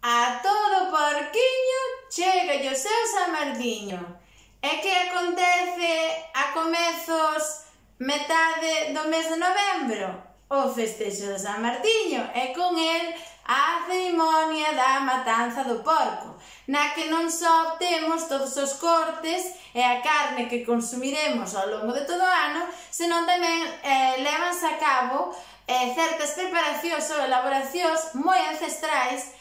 A todo porquiño chegalle o seu San Martiño. E que acontece a comezos metade do mes de novembro? O festexo de San Martiño e con el a cerimonia da matanza do porco, na que non só temos todos os cortes e a carne que consumiremos ao longo de todo o ano, senón tamén levanse a cabo certas preparacións ou elaboracións moi ancestrais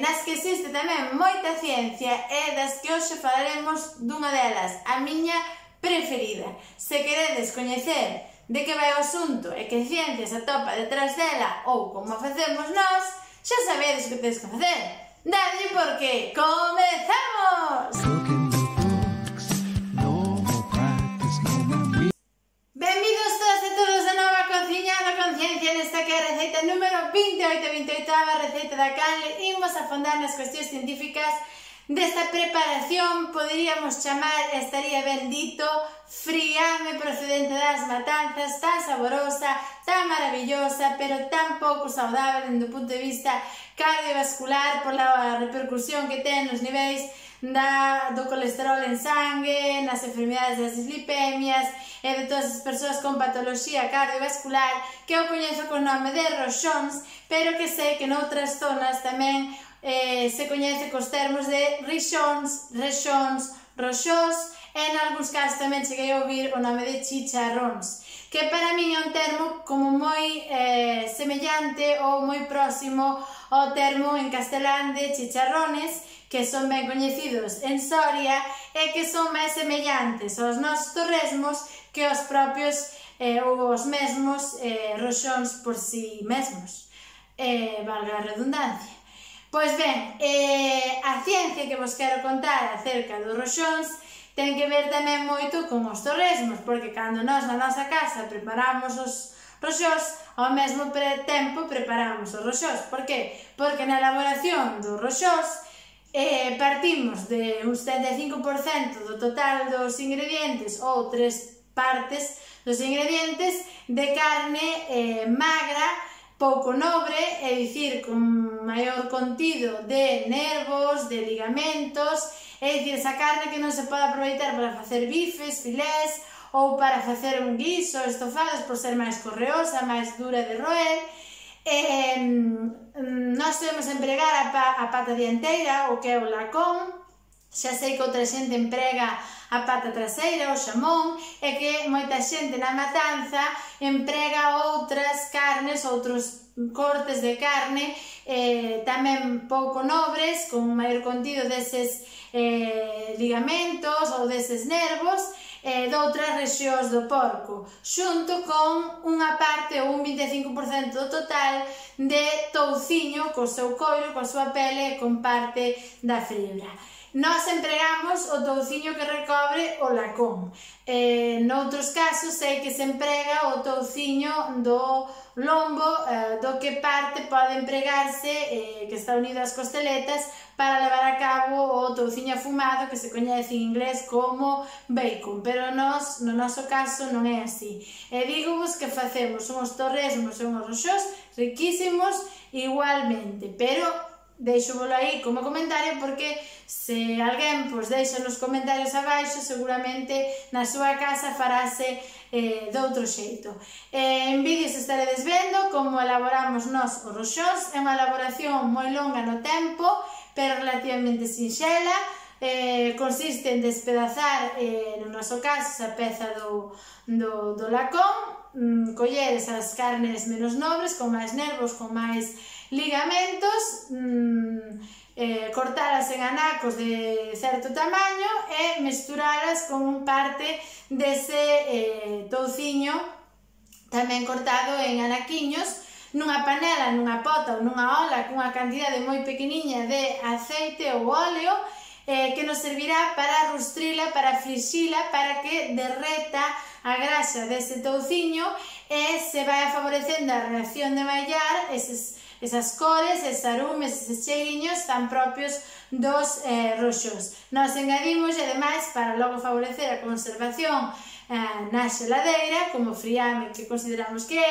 nas que existe tamén moita ciencia e das que hoxe falaremos dunha delas, a miña preferida. Se queredes coñecer de que vai o asunto e que ciencia se atopa detrás dela ou como facemos nós, xa sabedes que tedes que facer. Dadlle porque comezamos! Benvidos todas e todos de novo a Cociñando con Ciencia, nesta que é a receita número 28, receita da canle. Imos a afondar nas cuestións científicas desta preparación, poderíamos chamar, estaría ben dito, friame procedente das matanzas, tan saborosa, tan maravillosa, pero tan pouco saudável dende o punto de vista cardiovascular pola repercusión que ten nos niveis do colesterol en sangue, nas enfermidades das dislipemias e de todas as persoas con patoloxía cardiovascular, que eu coñezo con nome de roxóns, pero que sei que noutras zonas tamén se coñece cos termos de rixóns, rexóns, roxós, e en algúns casos tamén cheguei a ouvir o nome de chicharróns, que para min é un termo como moi semellante ou moi próximo ao termo en castelán de chicharrones, que son ben coñecidos en Soria e que son máis semellantes aos nosos torresmos que os propios ou os mesmos roxóns por si mesmos, valga a redundancia. Pois ben, a ciencia que vos quero contar acerca dos roxóns ten que ver tamén moito con os torresmos, porque cando nós na nosa casa preparamos os roxós, ao mesmo tempo preparamos os roxós. Por que? Porque na elaboración dos roxós partimos de un 75% do total dos ingredientes ou 3 partes dos ingredientes de carne magra, pouco nobre, é dicir, con maior contido de nervos, de ligamentos, é dicir, esa carne que non se pode aproveitar para facer bifes, filés ou para facer un guiso, estofados, por ser máis correosa, máis dura de roer. Nós podemos empregar a pata dianteira, o que é o lacón, xa sei que outra xente emprega a pata traseira, o xamón, e que moita xente na matanza emprega outras carnes, outros cortes de carne tamén pouco nobres, con maior contido deses ligamentos ou deses nervos de outras rexións do porco, xunto con unha parte ou un 25% do total de touciño co seu coiro, coa súa pele e con parte da fibra. Nós empregamos o touciño que recobre o lacón. Noutros casos sei que se emprega o touciño do lombo, do que parte pode empregarse, que está unido ás costeletas, para levar a cabo o touciño afumado, que se coñece en inglés como bacon, pero nós, no noso caso, non é así. E dígovos que facemos uns torresmos e uns roxós riquísimos igualmente, pero deixo-volo aí como comentario porque se alguén deixa nos comentarios abaixo, seguramente na súa casa farase de outro xeito. En vídeos estaredes vendo como elaboramos nós os roxós. É unha elaboración moi longa no tempo, pero relativamente sinxela. Consiste en despedazar, no noso caso, a peza do lacón, coller esas carnes menos nobres, con máis nervos, con máis ligamentos, cortalas en anacos de certo tamaño e mesturalas con parte dese touciño tamén cortado en anaquiños nunha panela, nunha pota ou nunha ola cunha cantidade moi pequeniña de aceite ou óleo que nos servirá para rustrila, para frixila, para que derreta a grasa dese touciño e se vai favorecendo a reacción de mallar esas cores, eses arumes, eses cheiriños tan propios dos roxós. Nós engadimos, e ademais, para logo favorecer a conservación na xeladeira, como friame que consideramos que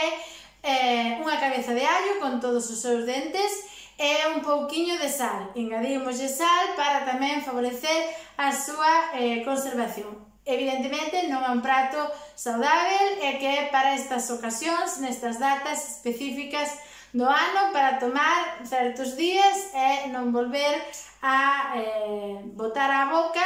é, unha cabeza de allo con todos os seus dentes e un pouquiño de sal. Engadimoslle sal para tamén favorecer a súa conservación. Evidentemente non é un prato saudável e que é para estas ocasións, nestas datas específicas do ano, para tomar certos días e non volver a botar a boca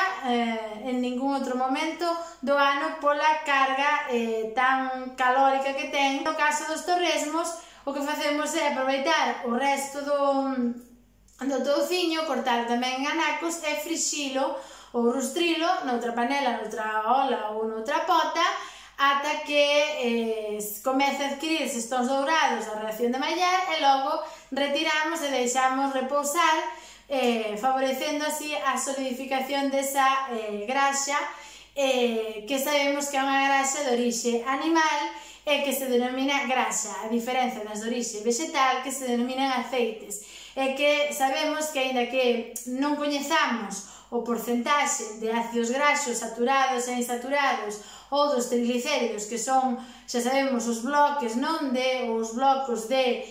en ningún outro momento do ano pola carga tan calórica que ten. No caso dos torresmos, o que facemos é aproveitar o resto do touciño, cortar tamén en anacos e frixilo ou rustrilo noutra panela, noutra olla ou noutra pota ata que comece a adquirir estes tons dourados a reacción de mallar e logo retiramos e deixamos repousar, favorecendo así a solidificación desa graxa que sabemos que é unha graxa de orixe animal e que se denomina graxa, a diferencia das de orixe vegetal que se denominan aceites, e que sabemos que, aínda que non coñezamos o porcentaxe de ácidos graxos saturados e insaturados ou dos triglicéridos, que son, xa sabemos, os bloques, non de os blocos de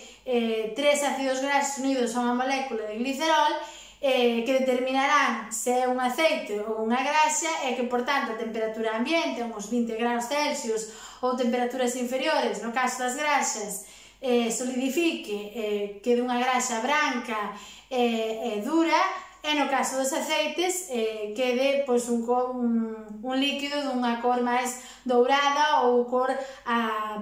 tres ácidos graxos unidos a unha molécula de glicerol, que determinarán se é un aceite ou unha graxa e que, por tanto, a temperatura ambiente, uns 20 graus Celsius ou temperaturas inferiores, no caso das graxas, solidifique, quede unha graxa branca e dura, e no caso dos aceites quede un líquido dunha cor máis dourada ou cor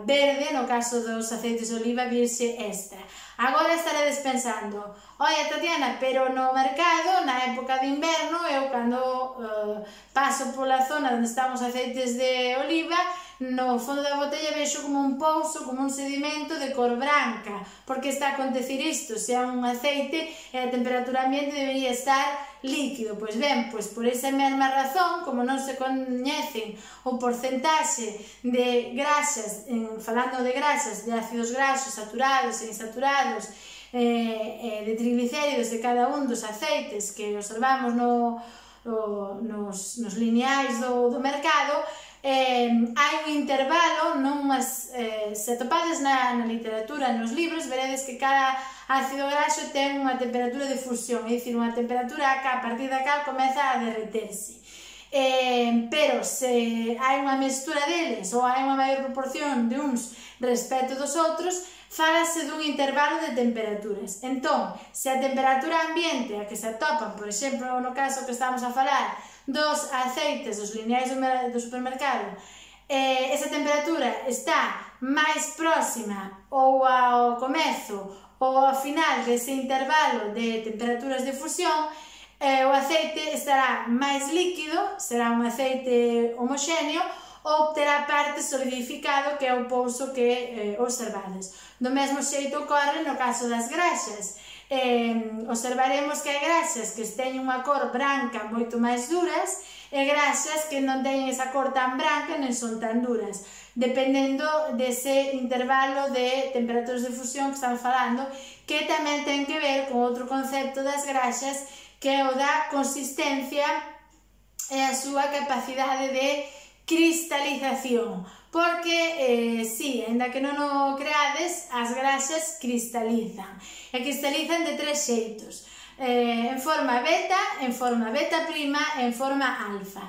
verde, no caso dos aceites de oliva virxe extra. Agora estaredes pensando, oye Tatiana, pero no mercado, na época de inverno, eu cando paso pola zona onde están os aceites de oliva, no fondo da botella vexo como un pouso, como un sedimento de cor branca. Por que está a acontecer isto? Se é un aceite e a temperatura ambiente debería estar líquido. Pois ben, pois por esa mesma razón, como non se coñecen o porcentaxe de graxas, falando de graxas, de ácidos graxos saturados e insaturados, de triglicéridos de cada un dos aceites que observamos nos lineais do mercado, hai un intervalo, se atopades na literatura, nos libros, veredes que cada ácido graxo ten unha temperatura de fusión, é dicir, unha temperatura que a partir da cal comeza a derreterse. Pero se hai unha mestura deles ou hai unha maior proporción de uns respecto dos outros, fálase dun intervalo de temperaturas. Entón, se a temperatura ambiente a que se atopan, por exemplo, no caso que estamos a falar dos aceites dos lineais do supermercado, esa temperatura está máis próxima ou ao comezo ou ao final dese intervalo de temperaturas de fusión, o aceite estará máis líquido, será un aceite homoxéneo, ou terá parte solidificado, que é o pouso que observades. Do mesmo xeito ocorre no caso das graxas. Observaremos que hai graxas que teñen unha cor branca moito máis duras e graxas que non teñen esa cor tan branca nen son tan duras, dependendo dese intervalo de temperaturas de fusión que estamos falando, que tamén ten que ver con outro concepto das graxas, que é o da consistencia e a súa capacidade de cristalización, porque, si, ainda que non o creades, as graxas cristalizan, e cristalizan de tres xeitos, en forma beta, en forma beta prima e en forma alfa.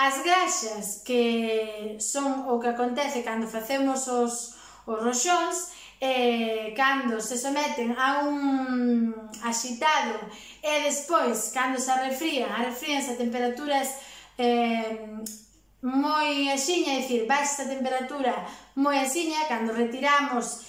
As graxas, que son o que acontece cando facemos os roxóns, cando se someten a un axitado e despois, cando se arrefríanse a temperaturas moi axiña, é dicir, baixa a temperatura moi axiña, cando retiramos,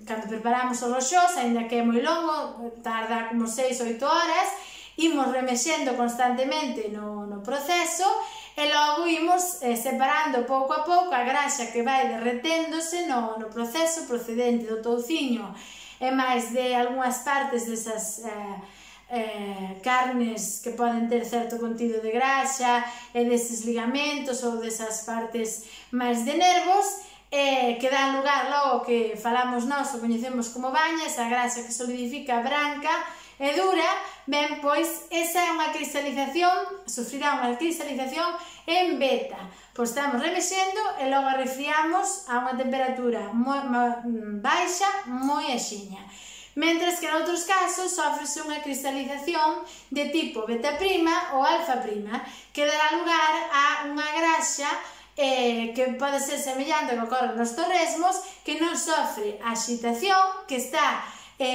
cando preparamos os roxós, aínda que é moi longo, tarda como 6-8 horas, imos remexendo constantemente no proceso e logo imos separando pouco a pouco a graxa que vai derreténdose no proceso procedente do touciño e máis de algunhas partes desas carnes que poden ter certo contido de graxa e deses ligamentos ou desas partes máis de nervos que dan lugar logo que falamos nós o coñecemos como baña, esa graxa que solidifica branca e dura. Ben, pois esa é unha cristalización, sufrirá unha cristalización en beta, pois estamos remexendo e logo refriamos a unha temperatura moi baixa, moi axiña. mentres que noutros casos sofrese unha cristalización de tipo beta' ou alfa', que dará lugar a unha graxa que pode ser semellante ao que ocorre nos torresmos, que non sofre a axitación, que está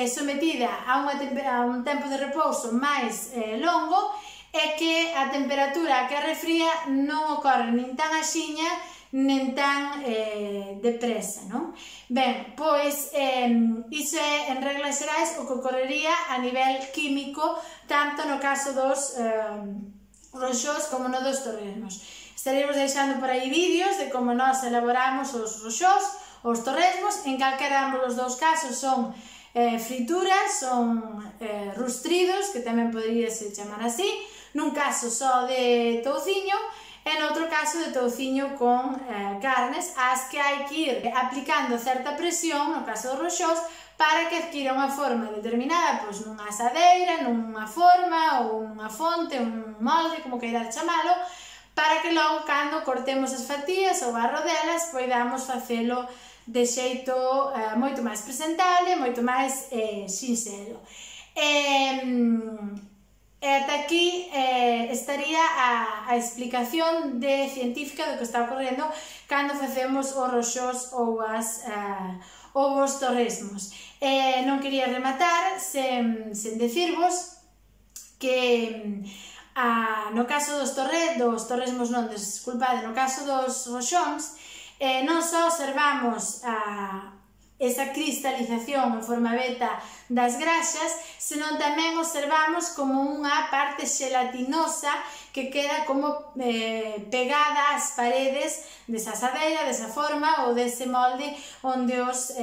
sometida a un tempo de repouso máis longo e que a temperatura que a refría non ocorre nin tan axiña nen tan depresa, non? Ben, pois iso é, en reglas xerais, o que ocorrería a nivel químico, tanto no caso dos roxós como no dos torresmos. Estaremos deixando por aí vídeos de como nós elaboramos os roxós, os torresmos, en calquera ambos os dous casos son frituras, son rustridos, que tamén poderíase chamar así, nun caso só de touciño, e noutro caso de touciño con carnes, as que hai que ir aplicando certa presión, no caso dos roxós, para que adquira unha forma determinada, pois nunha asadeira, nunha forma, ou nunha fonte, un molde, como queirades chamalo, para que logo, cando cortemos as fatías ou as rodelas, poidamos facelo de xeito moito máis presentable, moito máis sinxelo. E ata aquí estaría a explicación científica do que está ocorrendo cando facemos os roxós ou os torresmos. Non quería rematar sen decirvos que no caso dos torresmos non, desculpade, no caso dos roxóns, non só observamos esa cristalización en forma beta das graxas, senón tamén observamos como unha parte xelatinosa que queda como pegada ás paredes desa asadeira, desa forma ou dese molde onde os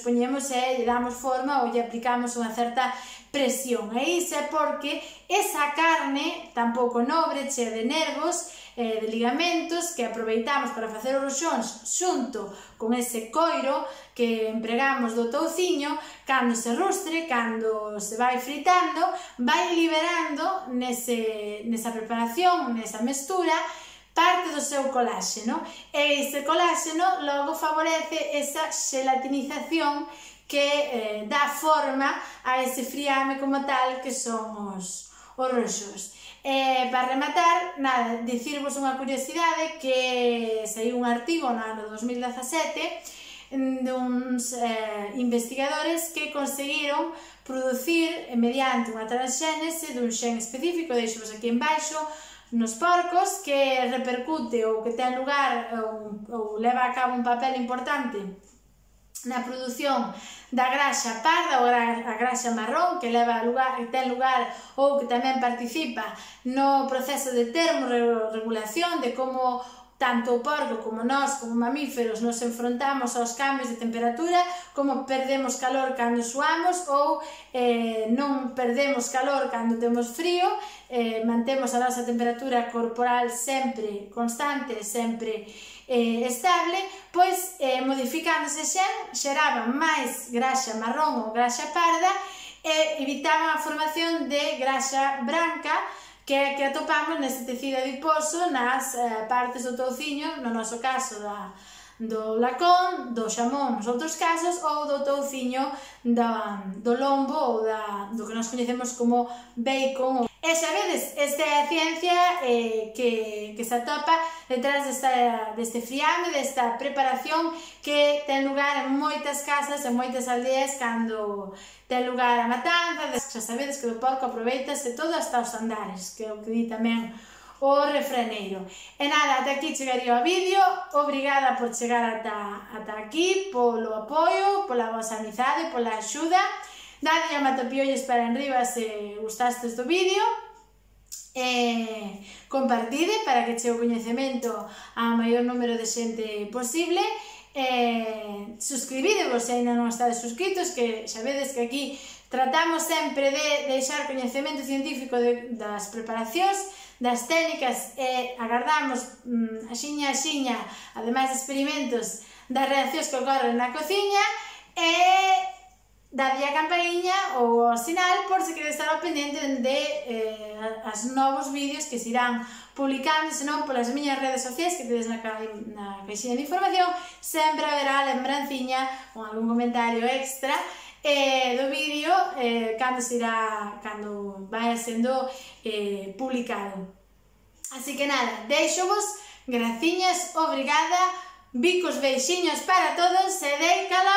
poñemos e lle damos forma ou lle aplicamos unha certa presión. E iso é porque esa carne tan pouco nobre, chea de nervos, de ligamentos, que aproveitamos para facer os roxóns xunto con ese coiro que empregamos do touciño, cando se rustre, cando se vai fritando, vai liberando nesa preparación, nesa mestura, parte do seu coláxeno, e ese coláxeno logo favorece esa xelatinización que dá forma a ese friame como tal que son os roxós. Para rematar, nada, dicirvos unha curiosidade que saiu un artigo no ano 2017 duns investigadores que conseguiron producir mediante unha transxénese dun xen específico, deixovos aquí embaixo, nos porcos, que repercute ou que ten lugar ou leva a cabo un papel importante na produción da graxa parda ou a graxa marrón, que ten lugar ou que tamén participa no proceso de termorregulación, de como tanto o porco como nós, como mamíferos, nos enfrontamos aos cambios de temperatura, como perdemos calor cando suamos ou non perdemos calor cando temos frío, mantemos a nosa temperatura corporal sempre constante, sempre estable, pois modificándose xeraban máis graxa marrón ou graxa parda e evitaban a formación de graxa branca que atopamos neste tecido adiposo nas partes do touciño, no noso caso do lacón, do xamón nos outros casos, ou do touciño do lombo ou do que nós coñecemos como bacon. E xa vedes, esta é a ciencia que se atopa detrás deste friame, desta preparación que ten lugar en moitas casas, en moitas aldeas, cando ten lugar a matanza. Xa sabedes que do porco aproveitase todo hasta os andares, que é o que di tamén o refraneiro. E nada, ata aquí chegaría o vídeo. Obrigada por chegar ata aquí, polo apoio, pola vosa amizade, pola axuda. Dadlle a matapiollos para enriba se gustastes do vídeo. Compartide para que chegue o coñecemento ao maior número de xente posible. Suscribidevos se ainda non estades suscritos, que xa vedes que aquí tratamos sempre de deixar coñecemento científico das preparacións, das técnicas, e agardamos axiña, ademais de experimentos, das reaccións que ocorren na cociña, e dadlle a campaniña ou ao sinal por se queredes estar ao pendente de as novos vídeos que se irán publicando, senón polas miñas redes sociais que tedes na caixinha de información. Sempre haberá a lembranciña con algún comentario extra do vídeo cando vai sendo publicado. Así que nada, deixo vos, graciñas, obrigada, bicos, beixiños para todos, e dei cada